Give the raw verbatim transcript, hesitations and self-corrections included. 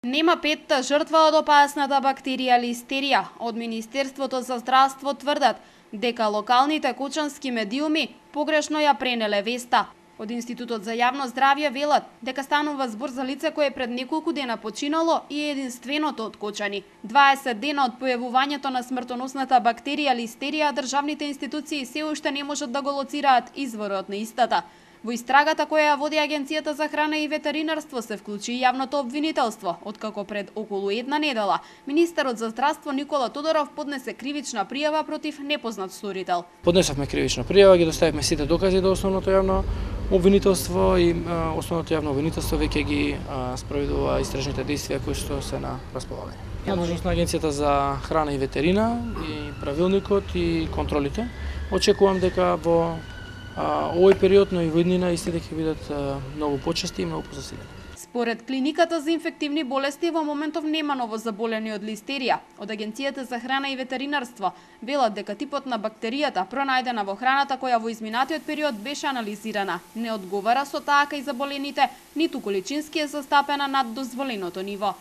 Нема петта жртва од опасната бактерија листерија. Од Министерството за здравство тврдат дека локалните кочански медиуми погрешно ја пренеле веста. Од Институтот за јавно здравје велат дека станува збор за лице кое пред неколку дена починало и е единственото од Кочани. дваесет дена од појавувањето на смртоносната бактерија листерија, државните институции се уште не можат да го лоцираат изворот на истата. Во истрагата која ја води Агенцијата за храна и ветеринарство се вклучи и јавното обвинителство, откако пред околу една недела министерот за здравство Никола Тодоров поднесе кривична пријава против непознат сторител. Поднесовме кривична пријава, ги доставивме сите докази до основното јавно обвинителство и а, основното јавно обвинителство веќе ги а, спроведува истражните действија кои што се на располагање. Надležност на Агенцијата за храна и ветерина и правилникот и контролите. Очекувам дека во А, овој период, но и во иднина, истите ќе бидат а, многу почести и многу позасилени. Според клиниката за инфективни болести во моментов нема новозаболени од листерија. Од Агенцијата за храна и ветеринарство велат дека типот на бактеријата пронајдена во храната која во изминатиот период беше анализирана не одговара со таа кај заболените, ниту количински е застапена над дозволеното ниво.